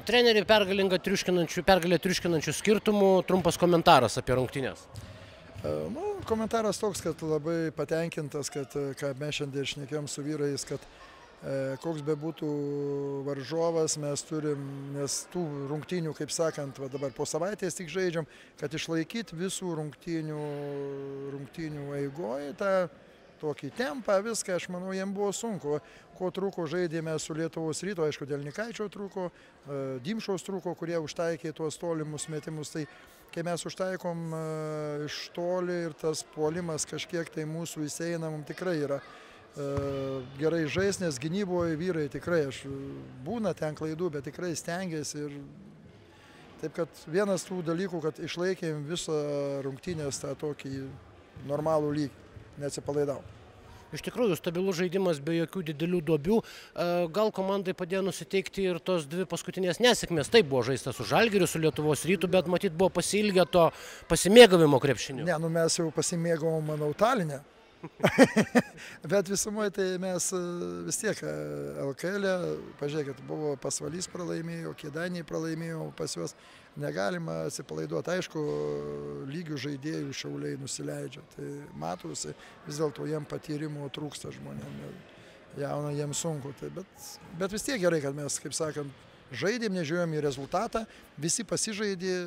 Treneri pergalę triuškinančių skirtumų, trumpas komentaras apie rungtynes. Komentaras toks, kad labai patenkintas, kad ką mes šiandien šnekėjom su vyrais, kad koks bebūtų varžovas mes turim, nes tų rungtynių, kaip sakant, dabar po savaitės tik žaidžiam, kad išlaikyti visų rungtynių eigoje tą tokį tempą, viską, aš manau, jiems buvo sunku. Ko trūko žaidėme su Lietuvos Ryto, aišku, dėl Nikaičio trūko, Dimšos trūko, kurie užtaikė tuos tolimus metimus. Tai kai mes užtaikom iš toli ir tas puolimas kažkiek tai mūsų įseina, mums tikrai yra gerai žais, nes gynyboje vyrai tikrai, aš būna ten klaidų, bet tikrai stengiasi. Ir taip, kad vienas tų dalykų, kad išlaikėm visą rungtynės tą tokį normalų lygį. Neatsipalaidau. Iš tikrųjų, stabilus žaidimas be jokių didelių duobių. Gal komandai padėjo nusiteikti ir tos dvi paskutinės nesėkmės. Taip buvo žaista su Žalgiriu, su Lietuvos Rytu, bet matyt buvo pasiilgę to pasimėgavimo krepšiniu. Ne, mes jau pasimėgavom, manau, Taline. Bet visumoje tai mes vis tiek LKL-e, pažiūrėkit, buvo Pasvalys pralaimėjo, Kėdainiai pralaimėjo, pas juos negalima atsipalaiduoti. Aišku, lygių žaidėjų Šiauliai nusileidžia, tai matosi, vis dėlto jiem patyrimo trūksta žmonėm, jauna jiems sunku. Tai, bet vis tiek gerai, kad mes, kaip sakant, žaidėm, nežiūrėjom į rezultatą, visi pasižaidė.